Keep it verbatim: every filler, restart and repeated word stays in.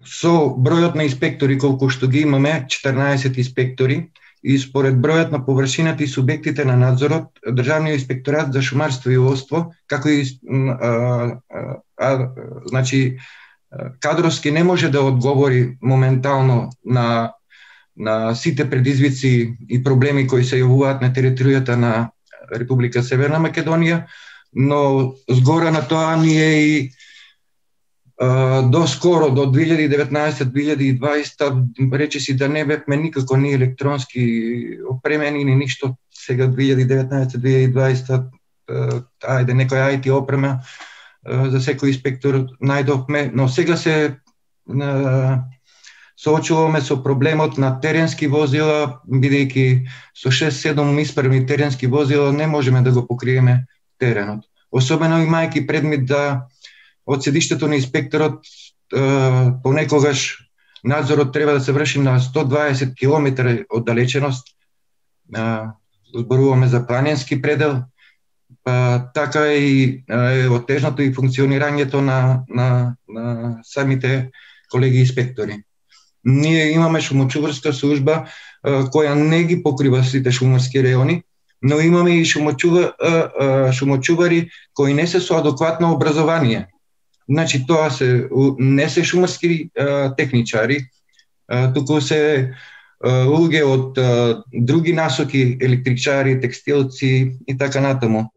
со бројот на инспектори колку што ги имаме, четрнаесет инспектори, и според бројот на површината и субјектите на надзорот, Државниот инспекторат за шумарство и ловство, како и а, а, а, значи кадровски не може да одговори моментално на на сите предизвици и проблеми кои се јавуваат на територијата на Република Северна Македонија, но згора на тоа ние и до скоро, до две илјади и деветнаесета - две илјади и дваесета, речиси да не бевме никако ни електронски опремени, ни ништо. Сега две илјади и деветнаесета - две илјади и дваесета, ајде, некоја ај ти опрема за секој инспектор најдовме, но сега се соочуваме со проблемот на теренски возила, бидејќи со шест-седум исправни теренски возила не можеме да го покриеме теренот. Особено имајќи предмет да од седиштето на инспекторот понекогаш надзорот треба да се врши на сто дваесет километри оддалеченост, зборуваме за планински предел, па така и е отежното и функционирањето на, на, на самите колеги инспектори. Ние имаме шумочуварска служба која не ги покрива сите шумарски реони, но имаме и шумочува, шумочувари кои не се со адекватно образование. Значи тоа се не се шумарски а, техничари, а, туку се а, луѓе од а, други насоки, електричари, текстилци и така натаму.